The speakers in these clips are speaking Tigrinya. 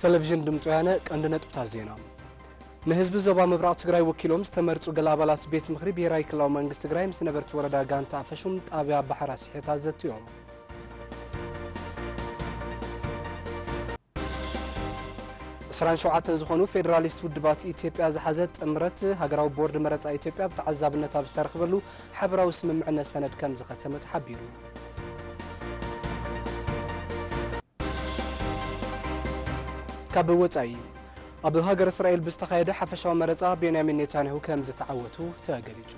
ቴሌቪዥን ድምፂ ወያነ። ቀንዲ ነጥብታት ዜና። ንህዝቢ ዞባ ምብራቕ ትግራይ ወኪሎም ዝተመርፁ ገለ ኣባላት ቤት ምኽሪ ብሄራዊ ክልላዊ መንግስቲ ትግራይ ምስ ነበርቲ ወረዳ ጋንታ ኣፈሹም ጣብያ ባሕራ ስሒታ ዘትዮም። ዕስራን ሸውዓተን ዝኾኑ ፌዴራሊስት ውድባት ኢትዮጵያ ዝሓዘ ጥምረት ሃገራዊ ቦርድ መረፃ ኢትዮጵያ ብተዓዛብነት ኣብ ዝተረኽበሉ ሓበራዊ ስምምዕነት ሰነድ ከም ዝኸተመ ተሓቢሩ። ካብ ወጻኢ፣ ኣብ ሃገር እስራኤል ብዝተኻየደ ሓፈሻዊ መረጻ ቤንያሚን ኔታንያሁ ከም ዝተዓወቱ ተገሊጹ።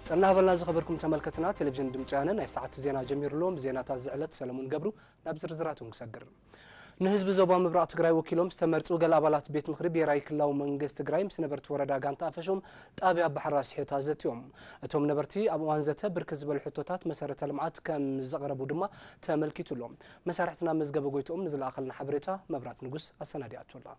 ጥዕና ሃበልና ዝኸበርኩም ተመልከትና፣ ቴሌቪዥን ድምፂ ወያነ ናይ ሰዓቱ ዜና ጀሚሩ ኣሎ። ምስ ዜናታት ዝዕለት ሰለሙን ገብሩ። ናብ ዝርዝራቱ ንሰግር። ንህዝቢ ዞባ ምብራቕ ትግራይ ወኪሎም ዝተመርፁ ገለ ኣባላት ቤት ምኽሪ ብሄራዊ ክልላዊ መንግስቲ ትግራይ ምስ ነበርቲ ወረዳ ጋንታ ኣፈሹም ጣብያ ባሕራ ስሒታ ዘትዮም። እቶም ነበርቲ ኣብ እዋን ዘተ ብርክት ዝበሉ ሕቶታት መሰረተ ልምዓት ከም ዘቕረቡ ድማ ተመልኪቱ ኣሎ። መሳርሕትና መዝገበ ጎይትኦም ንዝለኣኸልና ሓበሬታ መብራት ንጉስ ኣሰናዲኣቶ ኣላ።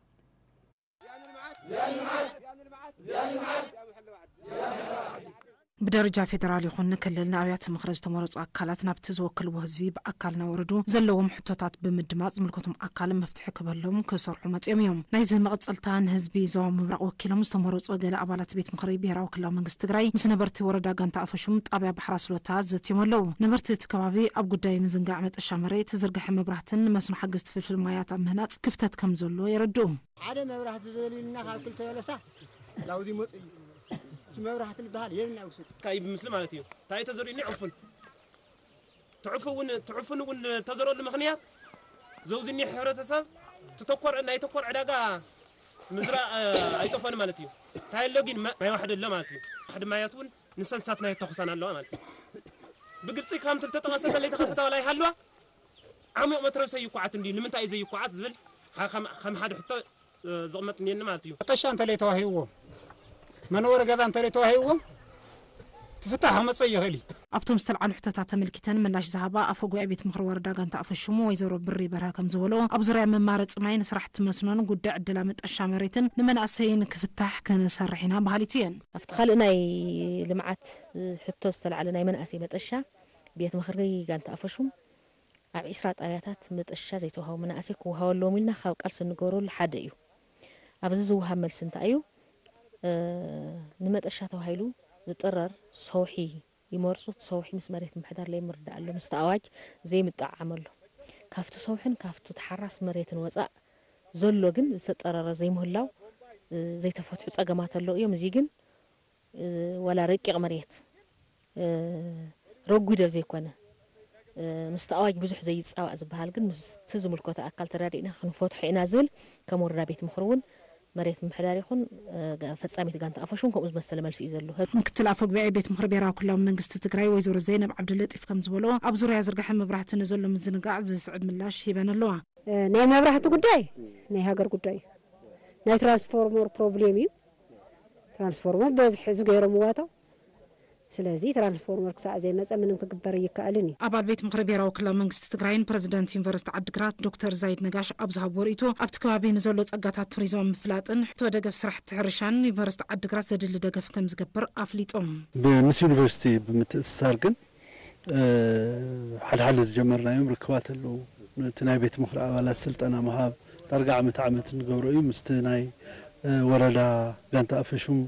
ብደረጃ ፌደራል ይኹን ክልል ንኣብያተ ምኽሪ ዝተመረፁ ኣካላት ናብቲ ዝወክልዎ ህዝቢ ብኣካል እናወረዱ ዘለዎም ሕቶታት ብምድማፅ ዝምልከቶም ኣካል መፍትሒ ክበሎም ክሰርሑ መፅኦም እዮም። ናይዚ መቐፀልታ ንህዝቢ ዞባ ምብራቕ ወኪሎም ዝተመረፁ ገለ ኣባላት ቤት ምኽሪ ብሄራዊ ክልላዊ መንግስቲ ትግራይ ምስ ነበርቲ ወረዳ ጋንታ ኣፈሹም ጣብያ ባሕራ ስሎታ ዘትዮም ኣለዉ። ነበርቲ እቲ ከባቢ ኣብ ጉዳይ ምዝንጋዕ መጠሻ መሬት፣ ዝርግሐ መብራህትን ንመስኖ ሓገዝቲ ፍልፍል ማያት ኣብ ምህናፅ ክፍተት ከም ዘሎ የረድኡ። ሓደ መብራህቲ ዘሊልና ካብ ክልተ በለሳ ላውዚ መጽእ እዩ። እቲ መብራህቲ ዝበሃል የብና ውሱድ። እንታይ ብምስሊ ማለት እዩ። እንታይ ተዘሪእኒ ዕፉን። ትዕፉ እውን፣ ትዕፉን እውን ተዘረሉ ምኽንያት ዘውዝኒ ሕብረተሰብ ትተኮር፣ ናይ ተኮር ዕዳጋ ምዝራእ፣ እ፣ ኣይጠፈን ማለት እዩ። እንታይ ኣሎ ግን ማ-፣ ማይ ዋሕዲ ኣሎ ማለት እዩ። ዋሕዲ ማያት እውን ንሰንሳት ናይ ተኹሳን ኣለዋ ማለት እዩ። ብግልፂ ከም ዝተጠቐሰ እንተለይ ተኸፈተ ዋላ ይሃልዋ፣ ዓሚቕ መትረብሰ ይኳዓት እንዲ ንምንታይ እዩ ዘይኳዓት ዝብል ሓ-፣ ከም፣ ከም ሓደ ሕቶ፣ እ፣ ዝቕመጥ እኒአኒ ማለት እዩ። መጠሻ እንተለይ ተዋሂብዎ፣ መንበሪ ገዛ እንተለይ ተዋሂብዎ፣ ትፍታሕ ክመፀ ይኽእል እዩ። ኣብቶም ዝተልዓሉ ሕቶታት ተመልኪተን ምላሽ ዝሃባ ኣፈ ጉባኤ ቤት ምኽሪ ወረዳ ጋንታ ኣፈሹም ወይዘሮ ብሪ በርሀ ከም ዝበሎ፣ ኣብ ዙርያ መማረፂ ማይ፣ ንስራሕቲ መስኖን ጉዳይ ዕድላ መጠሻ መሬትን ንመናእሰይን ክፍታሕ ክንሰርሕ ኢና በሃሊት እየን። ኣብቲ ካልእ ናይ ልምዓት ሕቶ ዝተልዓለ ናይ መናእሰይ መጠሻ ቤት ምኽሪ ጋንታ ኣፈሹም ኣብ ዒስራ ጣብያታት መጠሻ ዘይተዋህቡ መናእሰይ ክወሃበሎም ኢልና ካብ ቃልሲ እንገብረሉ ሓደ እዩ። ኣብዚ ዝወሃብ መልሲ እንታይ እዩ? እ፣ ንመጠሻ ተባሂሉ ዝጥረር ሰውሒ ይመርጹ። እቲ ሰውሒ ምስ መሬት ምምሕዳር ለይምርዳእ ኣሎ፣ ምስቲ ኣዋጅ ዘይምጥዕዓም ኣሎ። ካብቲ ሰውሕን ካብቲ ተሓራስ መሬትን ወጻእ ዘሎ ግን ዝተጠረረ ዘይምህላው፣ እ፣ ዘይተፈትሑ ጸገማት ኣለዉ እዮም። እዚ ግን እ፣ ዋላ ረቂቕ መሬት፣ እ፣ ረጒድ ኣብ ዘይኮነ፣ እ፣ ምስቲ ኣዋጅ ብዙሕ ዘይጻባእ ዝበሃል ግን ምስቲ ዝምልከቶ ኣካል ተራዲእና ክንፈትሖ ኢና ዝብል ከም ወረዳ ቤት ምኽሪ እውን መሬት ምምሕዳር ይኹን፣ እ፣ ጋ-፣ ፈጻሚት ጋንታ ኣፈሹም ከምኡ ዝመሰለ መልሲ እዩ ዘሎ። ምክትል ኣፈ ጉባኤ ቤት ምኽሪ ብሄራዊ ክልላዊ መንግስቲ ትግራይ ወይዘሮ ዘይነብ ዓብደለጢፍ ከም ዝበሎ፣ ኣብ ዙርያ ዝርግሐ መብራህቲ ንዘሎ ምዝንጋዕ ዝስዕብ ምላሽ ሂበን ኣለዋ። እ፣ ናይ መብራህቲ ጉዳይ ናይ ሃገር ጉዳይ እዩ። ናይ ትራንስፎርመር ፕሮብሌም እዩ። ትራንስፎርመር በዝሒ ዝገይሮም ዋታው። ስለዚ ትራንስፎርመር ክሳዕ ዘይመጸ ምንም ክግበር ኣይከኣልን እዩ። ኣባል ቤት ምኽሪ ብሄራዊ ክልላዊ መንግስቲ ትግራይን ፕረዚደንት ዩኒቨርሲቲ ዓዲግራት ዶክተር ዛይድ ነጋሽ ኣብ ዝሃብዎ ርእይቶ፣ ኣብቲ ከባቢ ንዘሎ ጸጋታት ቱሪዝም ኣብ ምፍላጥን ሕቶ ደገፍ ስራሕቲ ሕርሻን ዩኒቨርሲቲ ዓዲግራት ዘድሊ ደገፍ ከም ዝገብር ኣፍሊጦም። ብ-፣ ምስ ዩኒቨርሲቲ ብምትእስሳር ግን፣ እ፣ ሓድሓደ ዝጀመርናዮም ርክባት ኣለዉ። እቲ ናይ ቤት ምኽሪ ኣባላት ስልጠና ምሃብ ዳርጋ ዓመት ዓመት እንገብሮ እዩ። ምስቲ ናይ፣ እ፣ ወረዳ ጋንታ ኣፈሹም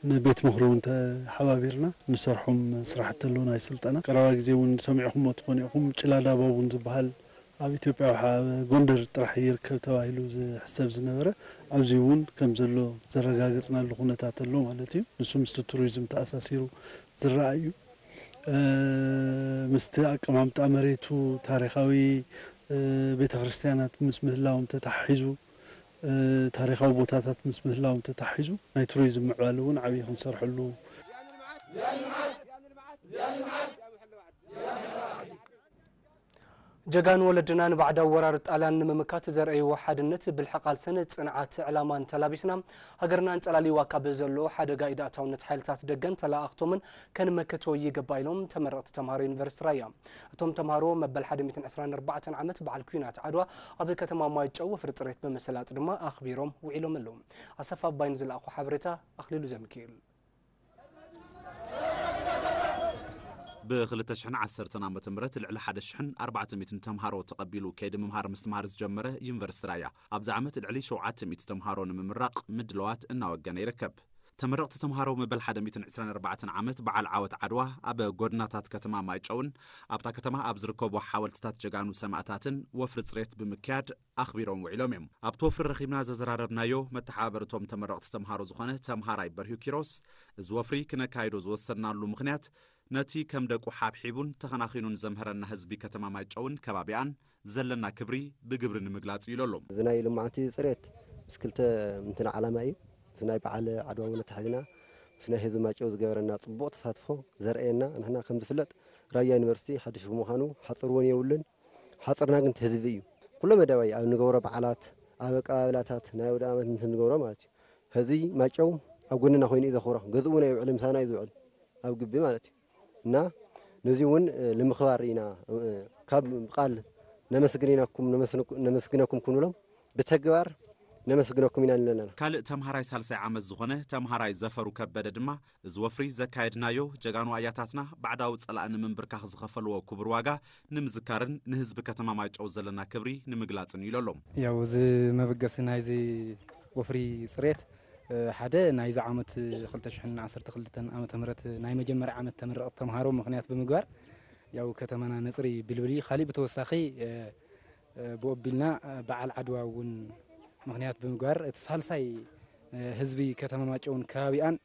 ንቤት ምኽሪ እውን ተሓባቢርና ንሰርሖም ስራሕቲ ኣለዉ ናይ ስልጠና። ቀረባ ግዜ እውን ሰሚዕኹምዎ ትኾኑ ኢኹም፣ ጭላዳ ባቡን ዝበሃል ኣብ ኢትዮጵያ ወሓ-፣ ጎንደር ጥራሕ ይርከብ ተባሂሉ ዝሕሰብ ዝነበረ ኣብዚ እውን ከም ዘሎ ዘረጋገጽናሉ ኩነታት ኣሎ ማለት እዩ። ንሱ ምስቲ ቱሪዝም ተኣሳሲሩ ዝረኣይ እዩ። እ፣ ምስቲ ኣቀማምጣ መሬቱ ታሪኻዊ፣ እ፣ ቤተክርስትያናት ምስ ምህላዎም ተታሒዙ፣ እ፣ ታሪኻዊ ቦታታት ምስ ምህላዎም ተታሒዙ ናይ ቱሪዝም ምዕባለ እውን ዓብዪ ክንሰርሐሉ። ጀጋኑ ወለድና ንባዕዳዊ ወራር ጣልያን ንምምካት ዘርኣይዎ ሓድነት፣ ብልሒ ቃልስን ጽንዓት ዕላማን ተላቢስና፣ ሃገርና ኣንጸላልይዋ ካብ ዘሎ ሓደጋ ኢድ ኣእታውነት ሓይልታት ደገን ተላኣኽቶምን ከንመክቶ ይግባእ ኢሎም ተመረቕቲ ተምሃሮ ዩኒቨርሲቲ ራያ። እቶም ተምሃሮ መበል ሓደ ሚእትን ዕስራን ኣርባዕተን ዓመት በዓል ኲናት ዓድዋ ኣብ ከተማ ማይጨው ወፍሪ ጽሬት ብምስላጥ ድማ ኣኽቢሮም ውዒሎም ኣለዉ። ኣሰፋ ኣባይ ንዝለኣኾ ሓበሬታ ኣኽሊሉ ዘሚካኤል። ብ2010 ዓመተ ምህረት ልዕሊ ሓደ ሽሕን ኣርባዕተ ሚእትን ተምሃሮ ተቐቢሉ ከይዲ ምምሃር ምስትምሃር ዝጀመረ ዩኒቨርሲቲ ራያ፣ ኣብዚ ዓመት ልዕሊ ሸውዓተ ሚእቲ ተምሃሮ ንምምራቕ ምድለዋት እናወገነ ይርከብ። ተመረቕቲ ተምሃሮ መበል ሓደ ሚእትን ዕስራን ኣርባዕተን ዓመት በዓል ዓወት ዓድዋ ኣብ ጎድናታት ከተማ ማይጨውን ኣብታ ከተማ ኣብ ዝርከቡ ሓወልትታት ጀጋኑ ሰማእታትን ወፍሪ ጽሬት ብምክያድ ኣኽቢሮም ውዒሎም እዮም። ኣብቲ ወፍሪ ረኺብና ዘዘራረብናዮ መተሓባበሪ እቶም ተመረቕቲ ተምሃሮ ዝኾነ ተምሃራይ በርሂ ኪሮስ፣ እዚ ወፍሪ ክነካይዶ ዝወሰናሉ ምኽንያት ነቲ ከም ደቁ ሓብሒቡን ተኸናኺኑን ዘምሀረና ህዝቢ ከተማ ማይጨውን ከባቢኣን ዘለና ክብሪ ብግብሪ ንምግላጽ እዩ ኢሎም። እዚ ናይ ልምዓቲ ጽሬት ምስ ክልተ ምንትና ዓላማ እዩ። ምስ ናይ በዓል ዓድዋ እውን ኣተሓሒዝና ምስ ናይ ህዝቢ ማይጨው ዝገበረና ጽቡቕ ተሳትፎ ዘርእየና። ንሕና ከም ዝፍለጥ ራያ ዩኒቨርሲቲ ሓድሽ ብምዃኑ ሓጽር እውን የብሉን። ሓጽርና ግን እቲ ህዝቢ እዩ። ኩሎ መዳያዊ ኣብ ንገብሮ በዓላት፣ ኣብ ኣቀባብላታት፣ ናይ ኣውደ ዓመት ምስ ንገብሮ ማለት እዩ። ህዝቢ ማይጨው ኣብ ጎንና ኮይኑ እዩ ዘኽብሮ። ገዝኡ እውን ኣይውዕልን፣ ምሳና እዩ ዝውዕል ኣብ ግቢ ማለት እዩ። እና ነዚ እውን፣ እ፣ ንምኽባር ኢና፣ እ፣ ካብ ቃል ነመስግን ኢናኩም፣ ነመስንኩ-፣ ነመስግነኩም ክንብሎም ብተግባር ነመስግነኩም ኢና ንብለና። ካልእ ተምሃራይ ሳልሳይ ዓመት ዝኾነ ተምሃራይ ዘፈሩ ከበደ ድማ፣ እዚ ወፍሪ ዘካየድናዮ ጀጋኑ ኣያታትና ባዕዳዊ ጸላእ ንምንብርካኽ ዝኸፈልዎ ክቡር ዋጋ ንምዝካርን ንህዝቢ ከተማ ማይጨው ዘለና ክብሪ ንምግላጽን እዩ ኢሎም። ያው እዚ መበገሲ ናይዚ ወፍሪ ጽሬት፣ እ፣ ሓደ ናይዚ ዓመት ክልተ ሽሕን ዓሰርተ ክልተን ዓመተ ምህረት ናይ መጀመርያ ዓመት ተመረቕቲ ተምሃሮ ምኽንያት ብምግባር ያው ከተማና ነጽሪ ብልብል እዩ። ካሊእ ብተወሳኺ፣ እ፣ እ፣ ብኦቢልና፣ እ፣ በዓል ዓድዋ እውን ምኽንያት ብምግባር እቲ ሳልሳይ፣ እ፣ ህዝቢ ከተማ ማጨውን ከባቢኣን፣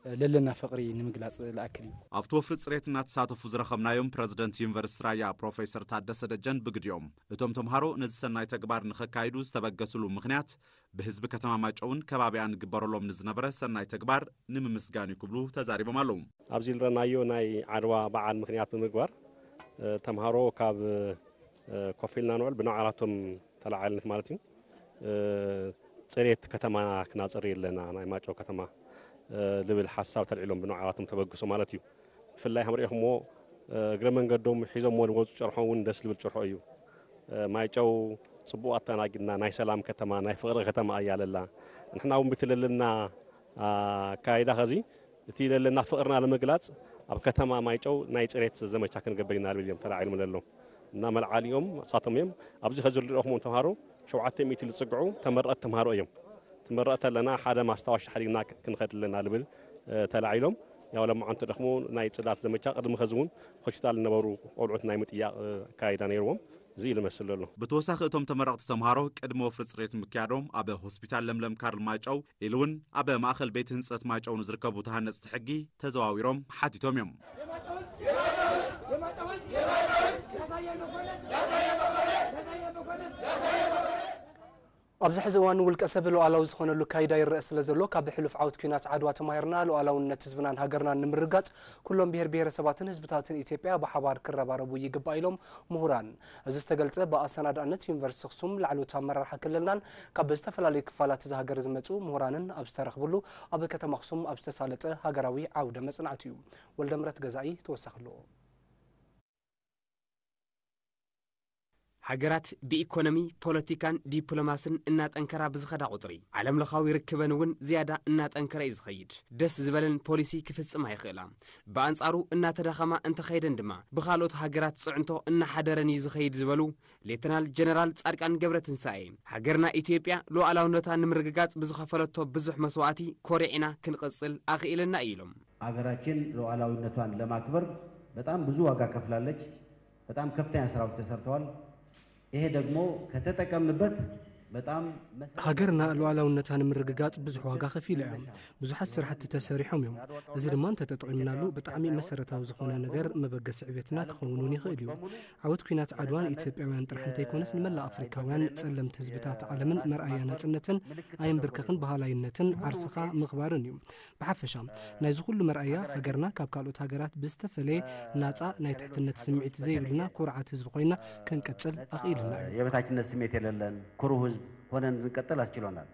እ፣ ለለና ፍቕሪ ንምግላጽ ዝኣክል እዩ። ኣብቲ ወፍሪ ጽሬት እናተሳተፉ ዝረኸብናዮም ፕረዚደንት ዩኒቨርሲቲ ራያ ፕሮፌሰር ታደሰ ደጀን ብግዲኦም፣ እቶም ተምሃሮ ነዚ ሰናይ ተግባር ንኸካይዱ ዝተበገስሉ ምኽንያት ብህዝቢ ከተማ ማጨውን ከባቢኣን ግበረሎም ንዝነበረ ሰናይ ተግባር ንምምስጋን እዩ ክብሉ ተዛሪቦም ኣለዉ። ኣብዚ ዝረናዮ ናይ ዓድዋ በዓል ምኽንያት ብምግባር፣ እ፣ ተምሃሮ ካብ፣ እ፣ ኮፍ ኢልና ንውዕል ብንባዕላቶም ተለዓልነት ማለት እዩ። እ፣ ጽሬት ከተማና ክናጽሪ ኣለና፣ ናይ ማይጨው ከተማ፣ እ፣ ልብል ሓሳብ ተልዒሎም ብንባዕላቶም ተበግሶ ማለት እዩ። ብፍላይ ከም ሪኢኹምዎ፣ እ፣ እግረ መንገዶም ሒዞምዎ ዝወፁ ጭርሖ እውን ደስ ዝብል ጭርሖ እዩ። እ፣ ማይጨው ጽቡቕ ኣተናጊድና፣ ናይ ሰላም ከተማ፣ ናይ ፍቕሪ ከተማ እያ ለላ። ንሕና እውን ብቲ ለለና ኣካይዳ ኸዚ እቲ ለለና ፍቕርና ንምግላጽ ኣብ ከተማ ማይጨው ናይ ጽሬት ዘመቻ ክንገብር ኢና ልብል እዮም ተላዒሎም ለሎ። እና መልዓሊኦም ንሳቶም እዮም። ኣብዚ ኸዚ ዝረኹም ተምሃሮ ሸውዓተ ሚእቲ ዝጽግዑ ተመረቕቲ ተምሃሮ እዮም። ትመረቕ ተለና ሓደ ማስታወሻ ሓዲግና ክንኸድ ኣለና ልብል፣ እ፣ ተላዒሎም። ያው ለማዓንቲ ደኽሞ ናይ ጽዳት ዘመቻ ቅድሚ ኸዚ እውን ሆስፒታል ዝነበሩ ቆልዑት ናይ ምጥያቕ፣ እ፣ ኣካይዳ ነይርዎም። እዚ እዩ ዝመስል ዘሎ። ብተወሳኺ እቶም ተመረቕቲ ተምሃሮ ቅድሚ ወፍሪ ጽሬት ምክያዶም ኣብ ሆስፒታል ለምለም ካርል ማይጨው ኢሉ እውን ኣብ ማእኸል ቤት ህንጸት ማይጨው ንዝርከቡ ተሃነጽቲ ሕጊ ተዘዋዊሮም ሓቲቶም እዮም። ኣብዚ ሕዚ እዋን ውልቀ ሰብ ሉዓላዊ ዝኾነሉ ካይዳ ይረአ ስለ ዘሎ፣ ካብ ሕሉፍ ዓወት ኲናት ዓድዋ ተማሂርና፣ ሉዓላውነት ህዝብናን ሃገርናን ንምርጋጽ ኩሎም ብሄር ብሄረሰባትን ህዝብታትን ኢትዮጵያ ብሓባር ክረባረቡ ይግባእ ኢሎም ምሁራን። እዚ ዝተገልጸ ብኣሰናዳእነት ዩኒቨርሲቲ ኣኽሱም ላዕለዎት ኣመራርሓ ክልልናን ካብ ዝተፈላለዩ ክፋላት እዛ ሃገር ዝመጹ ምሁራንን ኣብ ዝተረኽብሉ ኣብ ከተማ ኣኽሱም ኣብ ዝተሳለጠ ሃገራዊ ዓውደ መጽናዕቲ እዩ። ወልደምረት ገዛኢ ተወሳኺ ኣለዎ። ሃገራት ብኢኮኖሚ፣ ፖለቲካን ዲፕሎማስን እናጠንከራ ብዝኸዳ ቁጽሪ፣ ዓለምለኻዊ ርክበን እውን ዝያዳ እናጠንከረ እዩ ዝኸይድ። ደስ ዝበለን ፖሊሲ ክፍጽማ ይኽእላ። ብኣንጻሩ እናተዳኸማ እንተኸይደን ድማ ብኻልኦት ሃገራት ጽዕንቶ እናሓደረን እዩ ዝኸይድ ዝበሉ ሌተናል ጀነራል ጻድቃን ገብረትንሳኤ፣ ሃገርና ኢትዮጵያ ሉዓላውነታ ንምርግጋጽ ብዝኸፈለቶ ብዙሕ መስዋእቲ ኮሪዕና ክንቕጽል ኣኽኢለና እዩ ኢሎም። ሀገራችን ሉዓላዊነቷን ለማክበር በጣም ብዙ ዋጋ ከፍላለች። በጣም ከፍተኛ ስራዎች ተሰርተዋል። ይሄ ደግሞ ከተጠቀምንበት በጣም መሰረታዊ ሃገርና ሉዓላውነታ ንምርግጋጽ ብዙሕ ዋጋ ከፊላ እያ። ብዙሓት ስራሕቲ ተሰሪሖም እዮም። እዚ ድማ እንተተጠቒምናሉ ብጣዕሚ መሰረታዊ ዝኾነ ነገር መበገሲ ዕቤትና ክኸውን እውን ይኽእል እዩ። ዓወት ኲናት ዓድዋ ንኢትዮጵያውያን ጥራሕ እንተይኮነስ ንመላእ ኣፍሪካውያን ጸለምቲ ህዝብታት ዓለምን መርኣያ ናጽነትን ኣየንብርክኽን በሃላይነትን ዓርስኻ ምኽባርን እዩ። ብሓፈሻ ናይዚ ኩሉ መርኣያ ሃገርና ካብ ካልኦት ሃገራት ብዝተፈለየ ናጻ ናይ ትሕትነት ስምዒት ዘይብልና ኩርዓት ህዝቢ ኮይና ክንቅጽል ኣኽኢልና እዩ። የበታችነት ስሜት የለለን ኩሩ ህዝብ ሆነን እንድንቀጥል አስችሎናል።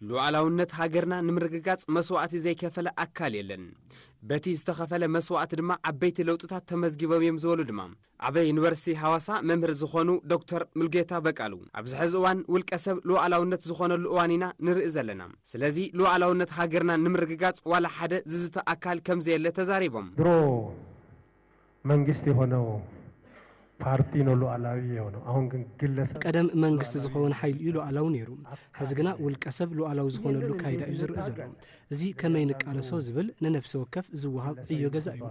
ሉዓላውነት ሃገርና ንምርግጋጽ መስዋእቲ ዘይከፈለ ኣካል የለን። በቲ ዝተኸፈለ መስዋእቲ ድማ ዓበይቲ ለውጥታት ተመዝጊቦም እዮም ዝበሉ ድማ ኣብ ዩኒቨርሲቲ ሃዋሳ መምህር ዝኾኑ ዶክተር ሙልጌታ በቃሉ፣ ኣብዚ ሕዚ እዋን ውልቀ ሰብ ሉዓላውነት ዝኾነሉ እዋን ኢና ንርኢ ዘለና። ስለዚ ሉዓላውነት ሃገርና ንምርግጋጽ ዋላ ሓደ ዝዝተ ኣካል ከም ዘየለ ተዛሪቦም። ድሮ መንግስት የሆነው ፓርቲ ነው ሉዓላዊ የሆነው። አሁን ግን ግለሰብ ቀደም መንግስቲ ዝኸውን ሓይሊ እዩ ሉዓላዊ ነይሩ። ሕዚ ግና ውልቀ ሰብ ሉዓላዊ ዝኾነሉ ካይዳ እዩ ዝርእ ዘሎ። እዚ ከመይ ንቃለሶ ዝብል ንነፍሲ ወከፍ ዝወሃብ ዕዮ ገዛ እዩ።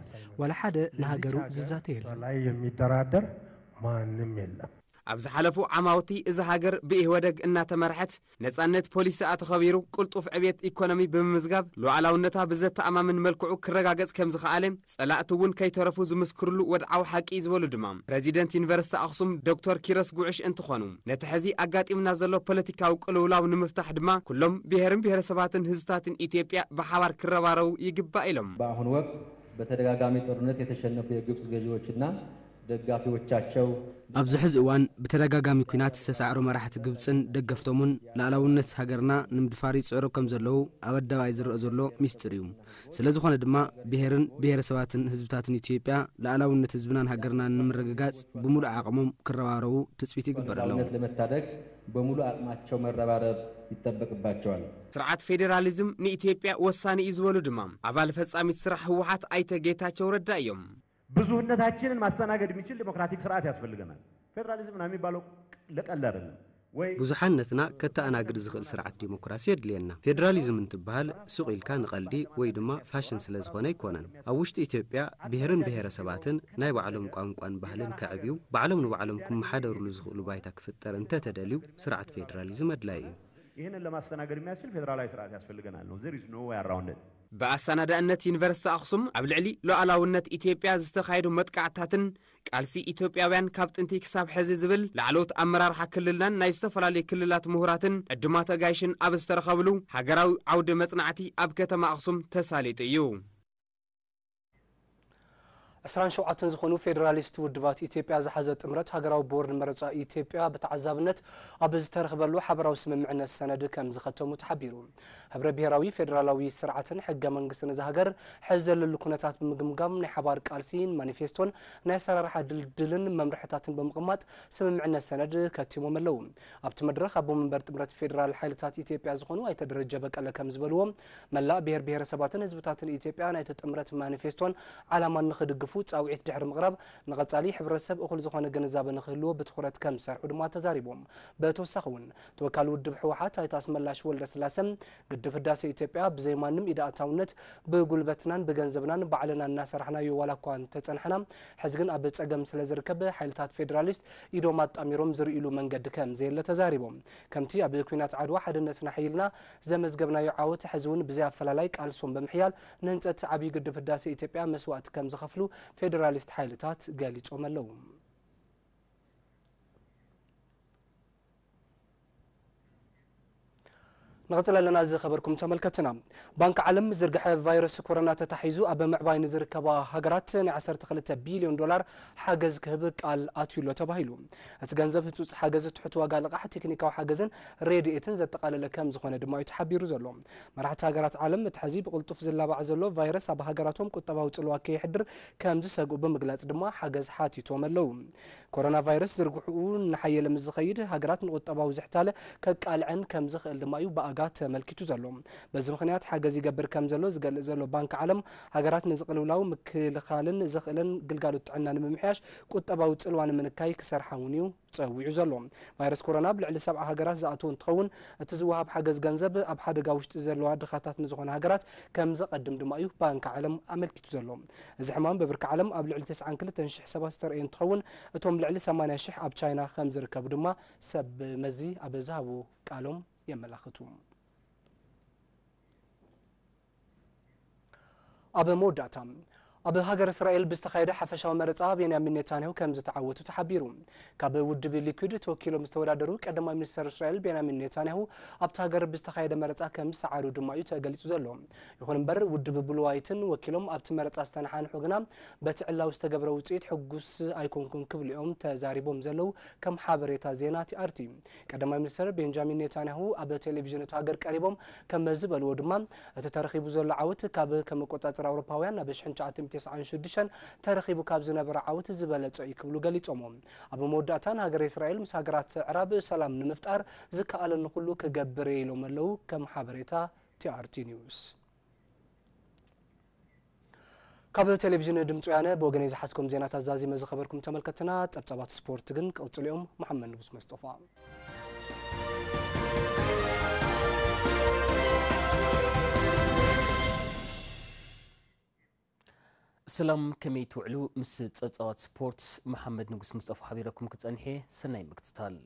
ዋላ ሓደ ንሃገሩ ዝዛተ የለን። ላይ የሚደራደር ማንም የለም። ኣብ ዝሓለፉ ዓማውቲ እዛ ሃገር ብኢህወደግ እናተመርሐት ነጻነት ፖሊሲ ኣተኸቢሩ ቅልጡፍ ዕብየት ኢኮኖሚ ብምምዝጋብ ሉዓላውነታ ብዘተኣማምን መልክዑ ክረጋገጽ ከም ዝኸኣለ ጸላእቲ እውን ከይተረፉ ዝምስክርሉ ወድዓዊ ሓቂ እዩ ዝበሉ ድማ ፕረዚደንት ዩኒቨርሲቲ ኣኽሱም ዶክተር ኪሮስ ጉዕሽ እንትኾኑ፣ ነቲ ሕዚ ኣጋጢምና ዘሎ ፖለቲካዊ ቅልውላው ንምፍታሕ ድማ ኩሎም ብሄርን ብሄረሰባትን ህዝብታትን ኢትዮጵያ ብሓባር ክረባረቡ ይግባእ ኢሎም። በአሁኑ ወቅት በተደጋጋሚ ጦርነት የተሸነፉ የግብፅ ገዢዎችና ደጋፊዎቻቸው ኣብዚ ሕዚ እዋን ብተደጋጋሚ ኲናት ዝተሳዕሩ መራሕቲ ግብፅን ደገፍቶምን ልኣላውነት ሃገርና ንምድፋር ይፅዕሩ ከም ዘለዉ ኣብ ኣደባባይ ዝረአ ዘሎ ሚስጥር እዩ። ስለ ዝኾነ ድማ ብሄርን ብሄረሰባትን ህዝብታትን ኢትዮጵያ ልኣላውነት ህዝብናን ሃገርናን ንምርግጋፅ ብምሉእ ዓቕሞም ክረባረቡ ትፅቢት ይግበረሎም። ለመታደግ በሙሉ አቅማቸው መረባረብ ይጠበቅባቸዋል። ስርዓት ፌዴራሊዝም ንኢትዮጵያ ወሳኒ እዩ ዝበሉ ድማ ኣባል ፈጻሚት ስራሕ ህወሓት ኣይተ ጌታቸው ረዳ እዮም። ብዙህነታችንን ማስተናገድ የሚችል ዲሞክራቲክ ስርዓት ያስፈልገናል። ፌዴራሊዝም ነው የሚባለው ለቀልድ አይደለም ወይ? ብዙሓነትና ከተኣናግድ ዝኽእል ስርዓት ዲሞክራሲ የድልየና። ፌዴራሊዝም እንትበሃል ሱቕ ኢልካ ንቐልዲ ወይ ድማ ፋሽን ስለ ዝኾነ ኣይኮነን። ኣብ ውሽጢ ኢትዮጵያ ብሄርን ብሄረሰባትን ናይ ባዕሎም ቋንቋን ባህልን ከዕብዩ ባዕሎም ንባዕሎም ክመሓደርሉ ዝኽእሉ ባይታ ክፍጠር እንተተደልዩ ስርዓት ፌዴራሊዝም ኣድላይ እዩ። ይህንን ለማስተናገድ የሚያስችል ፌዴራላዊ ስርዓት ያስፈልገናል ነው። There is no way around it። ብኣሰናዳእነት ዩኒቨርሲቲ ኣኽሱም ኣብ ልዕሊ ሉዓላውነት ኢትዮጵያ ዝተኻየዱ መጥቃዕትታትን ቃልሲ ኢትዮጵያውያን ካብ ጥንቲ ክሳብ ሕዚ ዝብል ላዕለዎት ኣመራርሓ ክልልናን ናይ ዝተፈላለዩ ክልላት ምሁራትን ዕዱማት ኣጋይሽን ኣብ ዝተረኸብሉ ሃገራዊ ዓውዲ መጽናዕቲ ኣብ ከተማ ኣኽሱም ተሳሊጡ እዩ። ዕስራን ሸውዓተን ዝኾኑ ፌዴራሊስት ውድባት ኢትዮጵያ ዝሓዘ ጥምረት ሃገራዊ ቦርድ መረፃ ኢትዮጵያ ብተዓዛብነት ኣብ ዝተረኽበሉ ሓበራዊ ስምምዕነት ሰነድ ከም ዝኸተሙ ተሓቢሩ። ህብረ ብሄራዊ ፌዴራላዊ ስርዓትን ሕገ መንግስትን እዛ ሃገር ሕዚ ዘለሉ ኩነታት ብምግምጋም ናይ ሓባር ቃልሲን ማኒፌስቶን ናይ ኣሰራርሓ ድልድልን መምርሕታትን ብምቕማጥ ስምምዕነት ሰነድ ከቲሞም ኣለዉ። ኣብቲ መድረኽ ኣቦ መንበር ጥምረት ፌዴራል ሓይልታት ኢትዮጵያ ዝኾኑ ኣይተ ደረጀ በቀለ ከም ዝበልዎ መላእ ብሄር ብሄረሰባትን ህዝብታትን ኢትዮጵያ ናይቲ ጥምረት ማኒፌስቶን ዓላማን ንኽድግፉ ፃውዒት ድሕሪ ምቕራብ ንቐፃሊ ሕብረተሰብ እኹል ዝኾነ ግንዛበ ንኽህልዎ ብትኹረት ከም ዝሰርሑ ድማ ተዛሪቦም። ብተወሳኺ እውን ተወካሊ ውድብ ህወሓት ኣይተ ኣስመላሽ ወልደስላሰ ግድብ ህዳሴ ኢትዮጵያ ብዘይ ማንም ኢድ ኣእታውነት ብጉልበትናን ብገንዘብናን ባዕልና እናሰራሕናዮ ዋላ እኳ እንተፀናሕና ሕዚ ግን ኣብ ፀገም ስለ ዝርከብ ሓይልታት ፌዴራሊስት ኢዶም ኣጣሚሮም ዝርእይሉ መንገዲ ከም ዘየለ ተዛሪቦም። ከምቲ ኣብ ኲናት ዓድዋ ሓድነትና ሓይልና ዘመዝገብናዮ ዓወት ሕዚ እውን ብዘይ ኣፈላላይ ቃልሶም ብምሕያል ንህንፀት ዓብዪ ግድብ ህዳሴ ኢትዮጵያ መስዋእቲ ከም ዝኸፍሉ ፌዴራሊስት ሓይልታት ገሊፆም ኣለዉ። ንቐፅል ኣለና ዝኸበርኩም ተመልከትና። ባንክ ዓለም ዝርግሐ ቫይረስ ኮሮና ተታሒዙ ኣብ ምዕባይ ንዝርከባ ሃገራት ናይ ዓሰርተ ክልተ ቢልዮን ዶላር ሓገዝ ክህብ ቃል ኣትዩ ኣሎ ተባሂሉ። እቲ ገንዘብ ህፁፅ ሓገዝ ትሑት ዋጋ ልቓሕ ቴክኒካዊ ሓገዝን ረድኤትን ዘጠቓለለ ከም ዝኾነ ድማ እዩ ተሓቢሩ ዘሎ። መራሕቲ ሃገራት ዓለም እቲ ሕዚ ብቕልጡፍ ዝላባዕ ዘሎ ቫይረስ ኣብ ሃገራቶም ቁጠባዊ ፅልዋ ከየሕድር ከም ዝሰግኡ ብምግላፅ ድማ ሓገዝ ሓቲቶም ኣለዉ። ኮሮና ቫይረስ ዝርግሕኡ እናሓየለ ምስ ዝኸይድ ሃገራት ንቁጠባዊ ዝሕታለ ከቃልዐን ከም ዝኽእል ድማ እዩ ብኣጋ ተመልኪቱ ዘሎ። በዚ ምኽንያት ሓገዝ ይገብር ከም ዘሎ ዝገልጽ ዘሎ ባንክ ዓለም ሃገራት ንዝቕልውላው ምክልኻልን ዘኽእለን ግልጋሎት ጥዕና ንምምሕያሽ ቁጠባዊ ጽልዋ ንምንካይ ክሰርሓ እውን እዩ ጸዊዑ ዘሎ። ቫይረስ ኮሮና ኣብ ልዕሊ ሰብዓ ሃገራት ዝኣተወ እንትኸውን እቲ ዝወሃብ ሓገዝ ገንዘብ ኣብ ሓደጋ ውሽጢ ዘለዋ ድኻታት ንዝኾነ ሃገራት ከም ዘቐድም ድማ እዩ ባንክ ዓለም ኣመልኪቱ ዘሎ። እዚ ሕማም ብብርኪ ዓለም ኣብ ልዕሊ ተስዓን ክልተን ሽሕ ሰባት ዝተረእየ እንትኸውን እቶም ልዕሊ ሰማንያ ሽሕ ኣብ ቻይና ከም ዝርከቡ ድማ ሰብ መዚ ኣብ ዝሃቡ ቃሎም የመላኽቱ። ኣብ መወዳእታ ኣብ ሃገር እስራኤል ብዝተኻየደ ሓፈሻዊ መረፃ ቤንያሚን ኔታንያሁ ከም ዝተዓወቱ ተሓቢሩ። ካብ ውድብ ሊኩድ ተወኪሎም ዝተወዳደሩ ቀዳማይ ሚኒስተር እስራኤል ቤንያሚን ኔታንያሁ ኣብቲ ሃገር ብዝተኻየደ መረፃ ከም ዝሰዓሩ ድማ እዩ ተገሊፁ ዘሎ። ይኹን እምበር ውድብ ብሉ ዋይትን ወኪሎም ኣብቲ መረፃ ዝተነሓንሑ ግና በቲ ዕላዊ ዝተገብረ ውፅኢት ሕጉስ ኣይኮንኩን ክብሉ እዮም ተዛሪቦም ዘለዉ ከም ሓበሬታ ዜና ቲኣርቲ። ቀዳማይ ሚኒስተር ቤንጃሚን ኔታንያሁ ኣብ ቴሌቪዥን እቲ ሃገር ቀሪቦም ከም ዝበልዎ ድማ እቲ ተረኺቡ ዘሎ ዓወት ካብ ከም ኣቆጻጽራ ኣውሮፓውያን ናብ ሽሕን ትሽዓተ ሚእትን ተስዓን ሽዱሽተን ተረኺቡ ካብ ዝነበረ ዓወት ዝበለጸ እዩ ክብሉ ገሊጾሞ። ኣብ መወዳእታ ንሃገረ እስራኤል ምስ ሃገራት ኣዕራብ ሰላም ንምፍጣር ዝከኣለኒ ኩሉ ክገብር እየ ኢሎም ኣለዉ ከም ሓበሬታ ቲኣርቲ ኒውስ። ካብ ቴሌቪዥን ድምፂ ወያነ ብወገነይ ዝሓዝኩም ዜናታት ዛዚመ ዝኸበርኩም ተመልከትና፣ ጸብጻባት ስፖርት ግን ቀጽሉ እዮም። መሓመድ ንጉስ መስጦፋ። ሰላም፣ ከመይ ትውዕሉ? ምስ ጸብጻባት ስፖርት መሓመድ ንጉስ ሙስጠፋ ሓቢረኩም ክጸንሕ እየ። ሰናይ ምክትታል።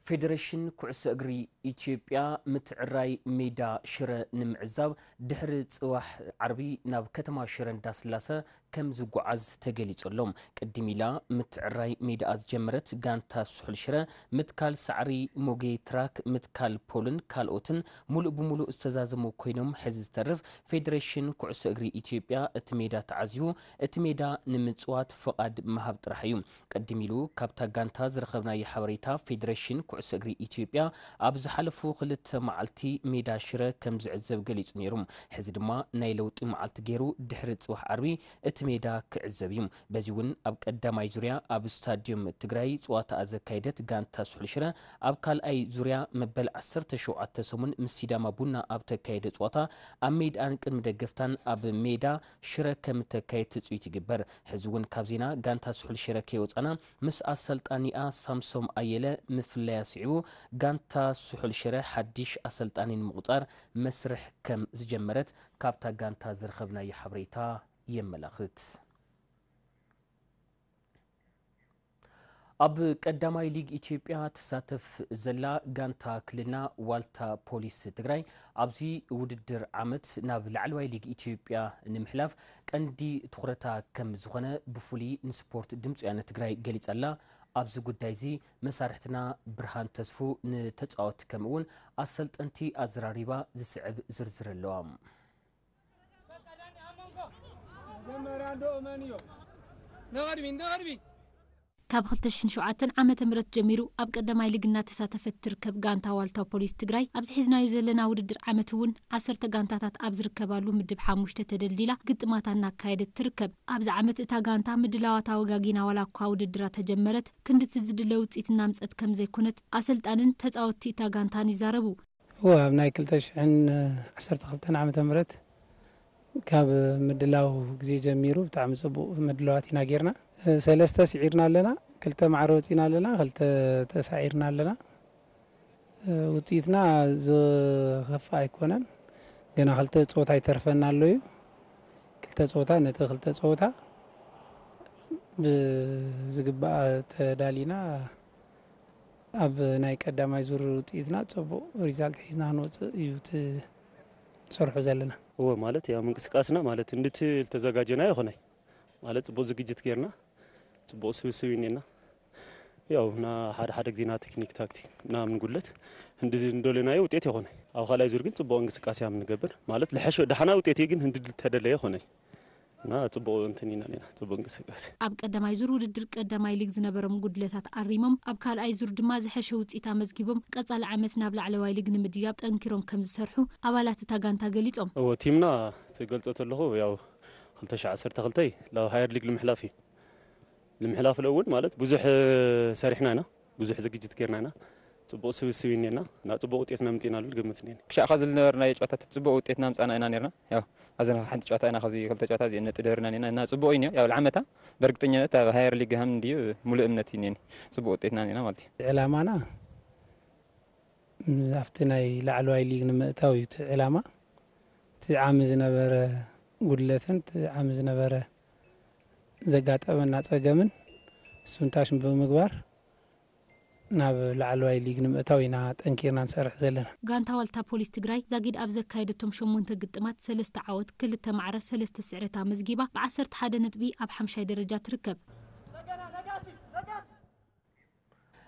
ፌደሬሽን ኩዕሶ እግሪ ኢትዮጵያ ምትዕራይ ሜዳ ሽረ ንምዕዛብ ድሕሪ ጽባሕ ዓርቢ ናብ ከተማ ሽረ እንዳስላሰ ከም ዝጓዓዝ ተገሊጹ ኣሎ። ቅድም ኢላ ምትዕራይ ሜዳኣ ዝጀመረት ጋንታ ስሑል ሽረ ምትካል ሳዕሪ፣ ሞጌ ትራክ፣ ምትካል ፖልን ካልኦትን ሙሉእ ብሙሉእ ዝተዛዘሙ ኮይኖም፣ ሕዚ ዝተርፍ ፌደሬሽን ኩዕሶ እግሪ ኢትዮጵያ እቲ ሜዳ ተዓዝዩ እቲ ሜዳ ንምጽዋት ፍቓድ ምሃብ ጥራሕ እዩ። ቅድም ኢሉ ካብታ ጋንታ ዝረኸብናዮ ሓበሬታ፣ ፌደሬሽን ኩዕሶ እግሪ ኢትዮጵያ ኣብ ዝሓለፉ ክልተ መዓልቲ ሜዳ ሽረ ከም ዝዕዘብ ገሊጹ ነይሩ። ሕዚ ድማ ናይ ለውጢ መዓልቲ ገይሩ ድሕሪ ጽባሕ ዓርቢ እቲ ሜዳ ክዕዘብ እዩ። በዚ እውን ኣብ ቀዳማይ ዙርያ ኣብ ስታድዮም ትግራይ ጸዋታኣ ዘካየደት ጋንታ ስሑል ሽረ ኣብ ካልኣይ ዙርያ መበል ዓሰርተ ሸውዓተ ሰሙን ምስ ሲዳማ ቡና ኣብ ተካየደ ጸዋታ ኣብ ሜዳኣን ቅድሚ ደገፍታን ኣብ ሜዳ ሽረ ከም እተካየድ ትጽቢት ይግበር። ሕዚ እውን ካብ ዜና ጋንታ ስሑል ሽረ ከይወጻና፣ ምስ ኣሰልጣኒኣ ሳምሶም ኣየለ ምፍላያ ስዒቡ፣ ጋንታ ስሑል ሽረ ሓድሽ ኣሰልጣኒ ንምቑጻር መስርሕ ከም ዝጀመረት ካብታ ጋንታ ዝረኸብናዮ ሓበሬታ የመላኽት። ኣብ ቀዳማይ ሊግ ኢትዮጵያ ትሳተፍ ዘላ ጋንታ ክልልና ዋልታ ፖሊስ ትግራይ ኣብዚ ውድድር ዓመት ናብ ላዕለዋይ ሊግ ኢትዮጵያ ንምሕላፍ ቀንዲ ትኹረታ ከም ዝኾነ ብፍሉይ ንስፖርት ድምፂ ወያነ ትግራይ ገሊጻ ኣላ። ኣብዚ ጉዳይ እዚ መሳርሕትና ብርሃን ተስፉ ንተፃወትቲ ከምኡ እውን ኣሰልጠንቲ ኣዘራሪባ ዝስዕብ ዝርዝር ኣለዋ። መጀመርያ እንዶ እመንዮ። ንቕድሚት፣ ንቕድሚት። ካብ ክልተ ሽሕን ሸውዓተን ዓመተ ምህረት ጀሚሩ ኣብ ቀዳማይ ሊግ እናተሳተፈት ትርከብ ጋንታ ዋልታ ፖሊስ ትግራይ፣ ኣብዚ ሒዝናዮ ዘለና ውድድር ዓመት እውን ዓሰርተ ጋንታታት ኣብ ዝርከባሉ ምድብ ሓሙሽተ ተደልዲላ ግጥማታ እናካየደት ትርከብ። ኣብዚ ዓመት እታ ጋንታ ምድላዋታ ወጋጊና ዋላ እኳ ውድድራ ተጀመረት፣ ክንድቲ ዝድለ ውፅኢት እናምፀት ከም ዘይኮነት ኣሰልጣንን ተፃወትቲ እታ ጋንታን ይዛረቡ። እወ፣ ኣብ ናይ ክልተ ሽሕን ዓሰርተ ክልተን ዓመተ ምህረት ካብ ምድላው ግዜ ጀሚሩ ብጣዕሚ ጽቡቕ ምድላዋት ኢና ጌርና። ሰለስተ ስዒርና ኣለና፣ ክልተ ማዕረ ወጺና ኣለና፣ ክልተ ተሳዒርና ኣለና። ውጽኢትና ዝኸፍእ ኣይኮነን። ገና ክልተ ጸወታ ይተርፈና ኣሎ እዩ። ክልተ ጸወታ፣ ነቲ ክልተ ጸወታ ብዝግባእ ተዳሊና ኣብ ናይ ቀዳማይ ዙር ውጽኢትና ጽቡቕ ሪዛልት ሒዝና ክንወጽእ እዩ እቲ ንሰርሖ ዘለና። እወ፣ ማለት ያው ምንቅስቃስና ማለት እንድትል ተዘጋጀና ይኾነይ ማለት ጽቡቕ ዝግጅት ጌርና ጽቡቕ ስብስብ ይኔና። ያው ና ሓደ ሓደ ግዜና ቴክኒክ ታክቲክ ምናምን ጉድለት እንዲ እንደለናዮ ውጤት ይኾነ። ኣብ ካልኣይ ዙር ግን ጽቡቕ እንቅስቃሴ ኣብ ንገብር ማለት ልሐሸ ደሓና ውጤት እዩ፣ ግን እንዲ ተደለየ ይኾነ። እና ጽቡቕ እንትን ኢና ኔና፣ ጽቡቕ እንቅስቃሴ። ኣብ ቀዳማይ ዙር ውድድር ቀዳማይ ሊግ ዝነበሮም ጉድለታት ኣሪሞም፣ ኣብ ካልኣይ ዙር ድማ ዝሐሸ ውጽኢት ኣመዝጊቦም፣ ቀጻሊ ዓመት ናብ ላዕለዋይ ሊግ ንምድያብ ጠንኪሮም ከም ዝሰርሑ ኣባላት እታ ጋንታ ገሊጾም። እወ፣ ቲምና ትገልጾ ተለኹ፣ ያው ክልተ ሽሕ ዓሰርተ ክልተ ላብ ሃየር ሊግ ንምሕላፍ እዩ። ንምሕላፍ እውን ማለት ብዙሕ ሰሪሕና ኢና፣ ብዙሕ ዝግጅት ጌርና ኢና። ጽቡቕ ስብስብ እኔና፣ እና ጽቡቕ ውጤት ነምጽእና ልብል ግምት እኔኒ። ክሻዕ ካብ ዝነበርናዮ ጨዋታታት ጽቡቕ ውጤት ናምጻና ኢና ኔርና። ያው ኣብዘን ሓንቲ ጨዋታ ኢና፣ ካብዚ ክልተ ጨዋታ እዚኤን ነጥቢ ደርና ኔና፣ እና ጽቡቕ እዩ ኔሩ። ያው ልዓመታ ብእርግጠኛነት ኣብ ሃየር ሊግ ሃም እንድዩ ሙሉእ እምነት እዩ ኔኒ። ጽቡቕ ውጤት ኢና ኔና ማለት እዩ። ዕላማና ኣብቲ ናይ ላዕለዋይ ሊግ ንምእታው እዩ እቲ ዕላማ። እቲ ዓሚ ዝነበረ ጉድለትን እቲ ዓሚ ዝነበረ ዘጋጠመና ጸገምን እሱንታሽ ብምግባር ናብ ላዕለዋይ ሊግ ንምእታው ኢና ጠንኪርና ንሰርሕ ዘለና። ጋንታ ዋልታ ፖሊስ ትግራይ ዛጊድ ኣብ ዘካየደቶም ሸሞንተ ግጥማት ሰለስተ ዓወት፣ ክልተ ማዕረ፣ ሰለስተ ስዕረት ኣመዝጊባ ብዓሰርተ ሓደ ነጥቢ ኣብ ሓምሻይ ደረጃ ትርከብ።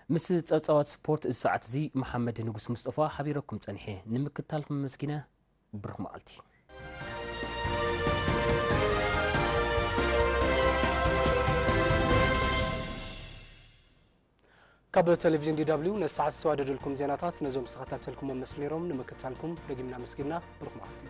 ምስ ጸብጻባት ስፖርት እዚ ሰዓት እዚ መሓመድ ንጉስ ሙስጠፋ ሓቢረኩም ጸኒሐ። ንምክትታልኩም ኣመስጊነ። ብሩኽ መዓልቲ። ካብ ቴሌቪዥን ዲ ደብሊው ነዚ ሰዓት ዝተዋደደልኩም ዜናታት ነዞም ዝተኸታተልኩሞም መስሉ ነይሮም። ንምክትታልኩም ደጊምና ኣመስጊንና። ብሩኽ መዓልቲ።